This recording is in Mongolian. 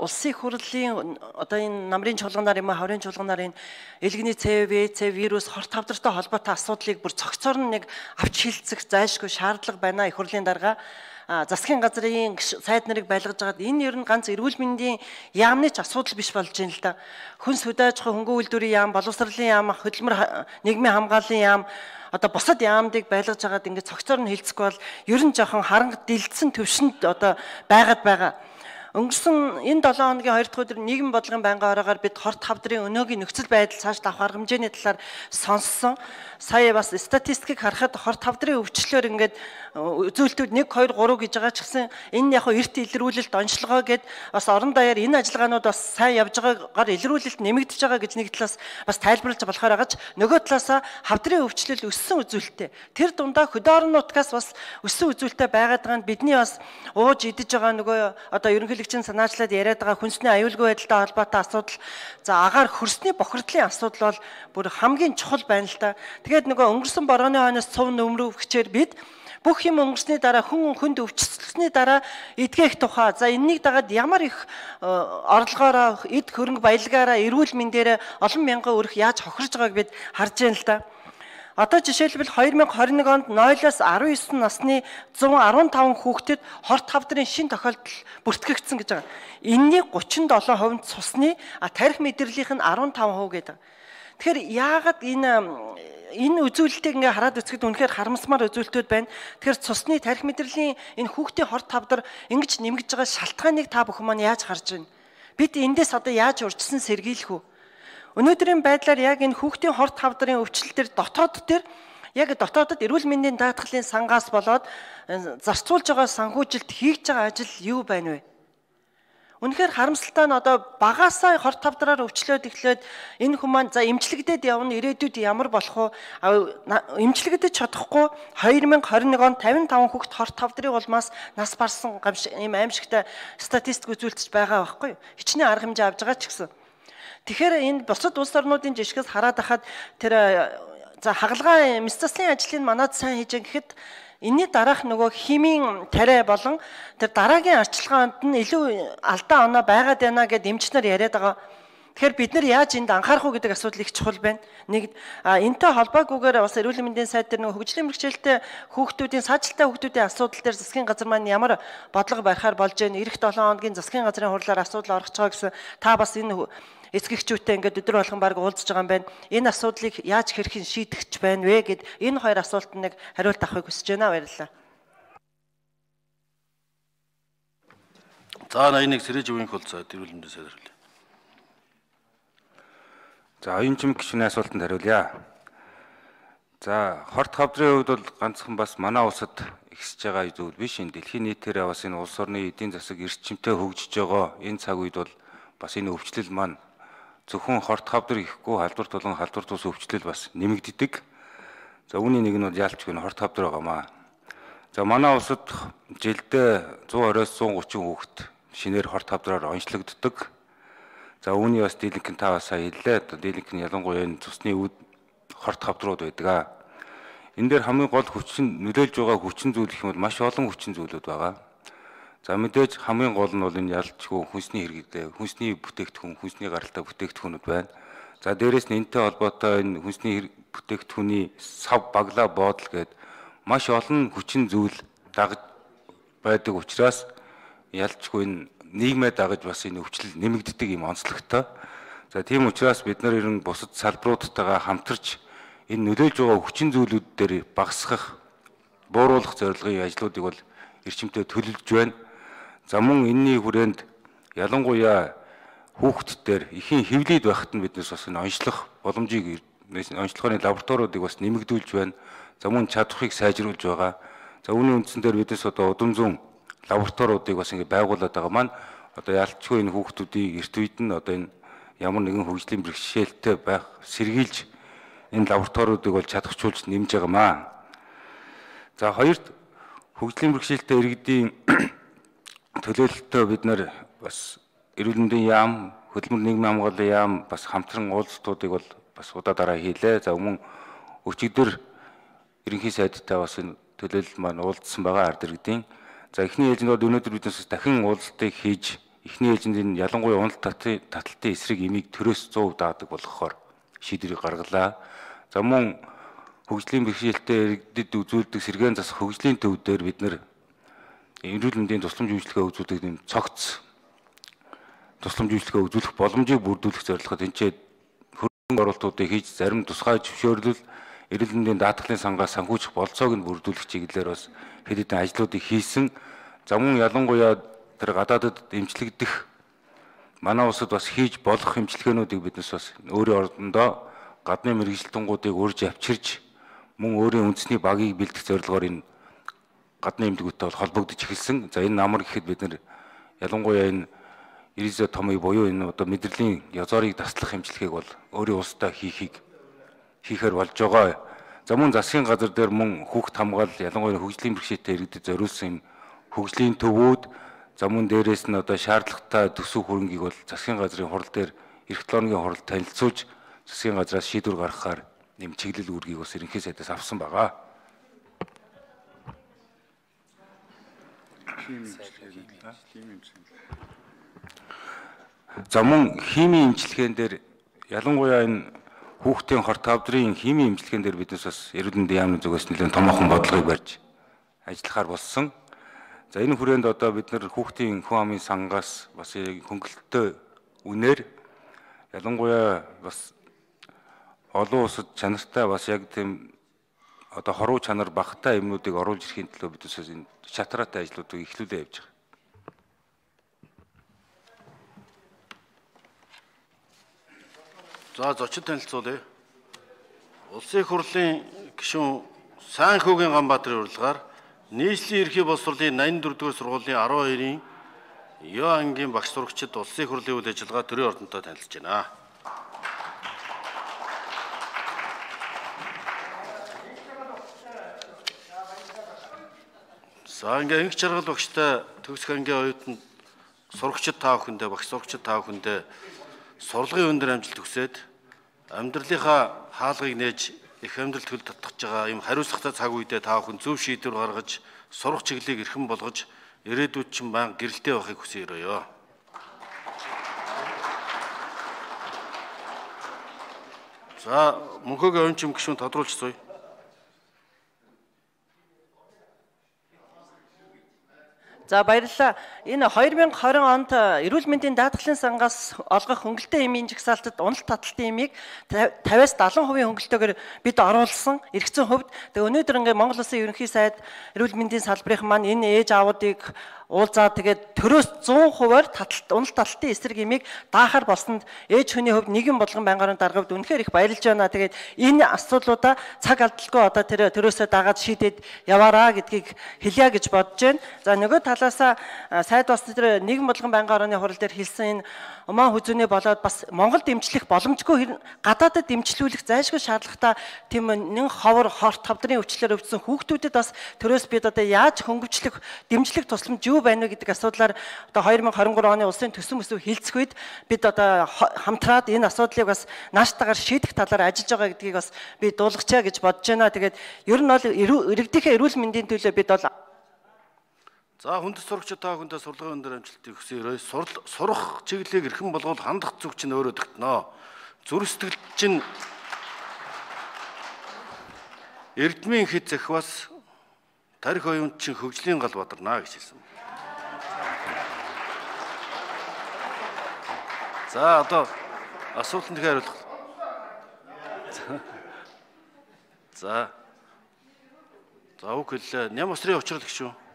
улсын их хурлын одоо энэ намрын чуулганаар юм хаврын чуулганаар энэ элгэний ЦВ вирус хорт тавдартай холбоотой асуудлыг бүр цогцоор нь нэг авч хилцэх зайлшгүй шаардлага байна их хурлын дарга засгийн газрын сайд нарыг байлгаж байгаад энэ ер нь ганц эрүүл мэндийн яамны ч асуудал биш болж байна л да. Хүнс хөдөөж хөнгөн үйлдвэрийн яам, боловсролын яам, хөдөлмөр нийгмийн хамгааллын яам одоо бусад яамдыг байлгаж байгаад ингээд цогцоор нь хилцэхгүй бол ер нь жоохон харанг дэлгэсэн төвшөнд одоо байгаад байгаа. Өнгөрсөн энэ 7 хоногийн 2 дахь өдөр нийгмийн бодлогын байнгын ороогаар бид хорт хавдрын өнөөгийн нөхцөл байдал цааш авах арга хэмжээний талаар сонссон. Сая бас статистикийг харахад хорт хавдрын өвчлөөр ингээд үзүүлэлтүүд 1 2 3 гэж байгаа ч гэсэн энэ яг эрт илрүүлэлт онцлогоо гэд бас орон даяар энэ ажиллагаанууд бас сайн явж байгаагаар илрүүлэлт нэмэгдэж байгаа гэж нэг талаас бас тайлбарлаж болохоор байгаа ч нөгөө талаасаа хавдрын өвчлөл өссөн үзүүлэлттэй. Тэр дундаа хөдөө орон нутгаас бас өссөн үзүүлэлттэй байгаад байгаа нь бидний бас ууж идэж байгаа нөгөө одоо ерөнхийлөгчийн санаачлаад яриад байгаа хүнсний аюулгүй байдалтай холбоотой асуудал за агаар хөрсний бохирдлын асуудал бол бүр хамгийн чухал байна л да. Тэгээд нөгөө өнгөрсөн борооны хойноос цов нөмрөвчээр бид бүх юм өнгөрсний дараа хүнд өвчлөсний дараа эдгэх тухай за энэнийг дагаад ямар их орлогоороо эд хөрөнгө баялагаараа эрүүл мэндээр олон мянган өрх яаж хохирж байгааг бид харж байна л да. Одоо жишээлбэл 2021 онд 0-аас 19 насны 115 хүүхдэд хорт хавдрын шин тохиолдол бүртгэгдсэн гэж байгаа. Энэний 37% цусны тарих мэдрэлийнх нь 15% гэдэг. Тэгэхээр яагаад энэ үзүүлэлтийг ингээ хараад үзэхэд үнэхээр харамсмаар үзүүлэлтүүд байна. Тэгэхээр цусны тарих мэдрэлийн энэ хүүхдийн хорт хавдар ингэж нэмгэж байгаа шалтгааныг та бүхэн маань яаж харж байна? Бид эндээс одоо яаж урьдчилан сэргийлэх вэ? Өнөөдрийн байдлаар яг энэ хүүхдийн хорт хавдрын өвчлөл төр дотоодод эрүүл мэндийн даатгалын сангаас болоод зарцуулж байгаа санхүүжилт хийж байгаа ажил юу байна вэ? Үнэхээр харамсалтай нь одоо багаасаа хорт хавдраар өвчлөөд эхлээд энэ хүмүүс за эмчилэгдээд явна ирээдүйд ямар болох вэ? Эмчилэгдэж чадахгүй 2021 онд 55 хүүхэд хорт хавдрын улмаас нас барсан ийм аимшигтай статистик үзүүлэлтж байгаа байхгүй юу? Хичнээн арга хэмжээ авж байгаа ч гэсэн. Тэгэхээр энэ бусад улс орнуудын жишгээс хараад ахад тэр за хагалгаа мэс заслын ажлыг манад сайн хийж гэхэд энэний дараах нөгөө химийн тариа болон тэр дараагийн арчилгаанд нь илүү алдаа оноо байгаад байна гэд эмчнэр яриад байгаа. Тэгэхээр бид нар яаж энд анхаарах уу гэдэг асуудал их чухал байна. Нэг энэтэй холбоогүйгээр бас эрүүл мэндийн сайд дээр нөгөө хөгжлийн бэрхшээлтэй хүүхдүүдийн саажилттай хүүхдүүдийн асуудал дээр засгийн газар маань ямар бодлого барихаар болж байна. Ирэх 7 хоногийн засгийн газрын хурлаар асуудал орох гэж гэсэн та бас энэ эцгэгчүүдтэй ингээд өдөр болгон баг уулзж байгаа юм байна. Энэ асуудлыг яаж хэрхэн шийдэх ч байна вэ гэд энэ хоёр асуултанд нэг хариулт авахыг хүсэж байна. Баярлалаа. За 81 Сэрэж өвийн хөлцөө эрүүл мэндийн сайд хариулъя. За оюун гишүүний асуултанд хариулъя. За хорт хавдрын хувьд бол ганцхан бас манай улсад ихсэж байгаа зүйл биш. Энэ дэлхийн нийтээр бас энэ улс орны эдийн засаг эрчимтэй хөгжиж байгаа энэ цаг үед бол бас энэ өвчлөл маань зөвхөн хорт хавдар ихгүй халдвар тулан халдвар тус өвчлөл бас нэмэгддэг. За үүний нэг нь бол яалтчгүй хорт хавдар байгаамаа. За манай улсад жилдээ 120-оос 130 хүүхэд шинээр хорт хавдраар онцлогддог. За үүний бас дийлэнх нь та бас хэллээ. Дийлэнх нь ялангуяа энэ цусны үд хорт хавдрууд байдаг. Энэ дээр хамгийн гол нөлөөлж байгаа хүчин зүйл гэх юм бол маш олон хүчин зүйлүүд байгаа. За мэдээж хамгийн гол нь бол энэ ялцгүй хүнсний хэрэглээ, хүнсний бүтээгдэхүүн, хүнсний гаралтай бүтээгдэхүүнүүд байна. За дээрэс нь энэтэй холбоотой энэ хүнсний бүтээгдэхүүний сав баглаа боодол гээд маш олон хүчин зүйл дагаж байдаг учраас ялцгүй энэ нийгмээ дагаж бас энэ өвчлөл нэмэгддэг юм онцлогтой. За тийм учраас бид нар ерөн бусад салбаруудтайгаа хамтарч энэ нөлөөлж байгаа хүчин зүйлүүд дээр багасгах, бууруулах зорилгын ажлуудыг бол эрчимтэй төлөвлөж байна. За мөн энэний хүрээнд ялангуяа хүүхдүүдээр ихийн хэвлийд байхад нь биднес бас энэ онцлох боломжийг онцлохын лабораториудыг бас нэмэгдүүлж байна. За мөн чадварыг сайжруулж байгаа. За үүний үндсэн дээр биднес одоо удам зүүн лабораториудыг бас ингэ байгуулад байгаа маань одоо ялцгүй энэ хүүхдүүдийн эрт үед нь одоо энэ ямар нэгэн хөгжлийн бэрхшээлтэй байх сэргийлж энэ лабораториудыг бол чадахжуулж нэмж байгаамаа. За хоёрт хөгжлийн бэрхшээлтэй иргэдийн төлөөлөлтөд бид нар бас эрүүл мэндийн яам, хөдөлмөр нийгмийн хамгааллын яам бас хамтран уулзалтуудыг бол бас удаа дараа хийлээ. За мөн өчигдөр ерөнхий сайдтай бас энэ төлөөлөл маань уулзсан байгаа ард иргэдийн. За эхний ээлжинд бол өнөөдөр биднээс дахин уулзалтыг хийж эхний ээлжинд энэ ялангуяа унал таталтын эсрэг имийг төрөөс 100% даадаг болгохоор шийдвэрийг гаргалаа. За мөн хөгжлийн бэрхшээлтэй иргэдэд үзүүлдэг сэргээн засах хөгжлийн төв дээр бид нэр эрүүл мэндийн тусламж үйлчилгээ үзүүлдэг нэм цогц тусламж үйлчилгээ үзүүлэх боломжийг бүрдүүлэх зорилгод энэчээд хөрөнгө оруулалтуудыг хийж зарим тусгай зөвшөөрлөл эрүүл мэндийн даатгалын сангаас санхүүжих болцоог нь бүрдүүлэх чиглэлээр бас хэд хэдэн ажлуудыг хийсэн. За мөн ялангуяа тэр гадаадад эмчлэгдэх манай улсад бас хийж болох эмчилгээнүүдийг биднес бас өөрийн ордондоо гадны мэрэгжилтэнгуудыг урьж авчирч мөн өөрийн үндэсний багийг бэлдэх зорилгоор энэ гадны эмнэлгүүдтэй бол холбогдож эхэлсэн. За энэ намар гэхэд бид нэр ялангуяа энэ ризотомыг буюу энэ одоо мэдрэлийн язорыг таслах эмчилгээг бол өөрийн улсдаа хийхээр болж байгаа. За мөн засгийн газар дээр мөн хүүхд хамгаалал ялангуяа хөгжлийн бэрхшээлтэй иргэдэд зориулсан юм хөгжлийн төвүүд за мөн дээрээс нь одоо шаардлагатай төсөв хөрөнгийг бол засгийн газрын хурал дээр эх 7 хоногийн хуралд танилцуулж засгийн газраас шийдвэр гаргахаар нэм чиглэл үүргийг бас ерөнхий сайдаас авсан байгаа. За мөн химийн эмчилгээнд дээр ялангуяа энэ хүүхдийн хорт тавдрын химийн эмчилгээнд дээр биднес бас эрүүл мэндийн яамны зүгээс нэлээд томоохон бодлогыг барьж ажиллахаар болсон. За энэ хүрээнд одоо бид нар хүүхдийн хүн амын сангаас бас хөнгөлөлттэй үнээр ялангуяа бас олон улсад чанартай бас яг тийм одоо хоруу чанар багтай юмнуудыг оруулж ирэхийн төлөө бид энэ шатраатай ажлуудыг эхлүүлээ явж байгаа. За зочид танилцуулъя. Улсын их хурлын гишүүн Сайнхүүгийн Ганбаатарын урилгаар нийслэлийн ерхий боловсролын 84-р сургуулийн 12-ийн Ёо ангийн багш сурагчид улсын их хурлын үйл ажиллагаа төрийн ордонтой танилцж байна. За ингээ инх жаргал багштай төгсөх ангийн оюутанд сурагчид та бүхэндээ багш сурагчид та бүхэндээ сурлагын өндөр амжилт хүсээд амьдралынхаа хаалгыг нээж их амьдралд хөл татгаж байгаа юм хариуцлагатай цаг үедээ та бүхэн зөв шийдвэр гаргаж сурах чиглэлийг эрхэм болгож ирээдүйд ч баян гэрэлтэй байхыг хүсье өрөөё. За мөнхөгийн оюун чим гишүүн тодруулж суй. За баярлалаа. Энэ 2020 онд эрүүл мэндийн даатгалын сангаас олгох хөнгөлтэй эмийн жагсаалтад унал таталтын эмийг 50-аас 70% хөнгөлтөөр бид оруулсан эргэцэн хувьд. Тэгээ өнөөдөр ингээ Монгол Улсын ерөнхий сайд эрүүл мэндийн салбарын маань энэ ээж аавуудыг уулзаад тэгээд төрөөс 100%-аар унал таталтын эсрэг эмийг даахаар болсонд ээж хүний хувьд нэгэн болгон байнгын даргавд үнэхээр их баярлж байна. Тэгээд энэ асуудлуудаа цаг алдалгүй одоо тэр төрөөсөө дагаад шийдээд яваараа гэдгийг хэлье гэж бодож байна. За нөгөө талаасаа сайд бас тэр нэгэн болгон байнгын орны хурал дээр хэлсэн энэ умаа хүзүүнээ болоод бас Монголд дэмжлэх боломжгүй гадаадад дэмжлүүлэх зайлшгүй шаардлагатай тийм нэг ховор хорт тавдрын өвчлөөр өвчсөн хүүхдүүдэд бас төрөөс бид одоо яаж хөнгөвчлөх дэмжлэх тусламж юу байна вэ гэдэг асуудлаар одоо 2023 оны улсын төсөв өсөв хилцэх үед бид одоо хамтраад энэ асуудлыг бас нааштайгаар шийдэх талаар ажиллаж байгаа гэдгийг бас би дуулгачаа гэж бодож байна. Тэгээд ер нь бол иргэдийнхээ эрүүл мэндийн төлөө бид бол За хүндэт сурагчид та бүхэндээ сурлагын өндөр амжилтыг хүсье өрөөё. Сурах чиглэлийг эрхэм болгоод хандах зүг чинь өөрөө тогтноо. Зүрх сэтгэл чинь эрдмийн хэд захиас тарих оюун чинь хөгжлийн гал бадарнаа гэж хэлсэн. За одоо асуултанд хариулах. За үг хэллээ. Ням усрын учрал гişүү.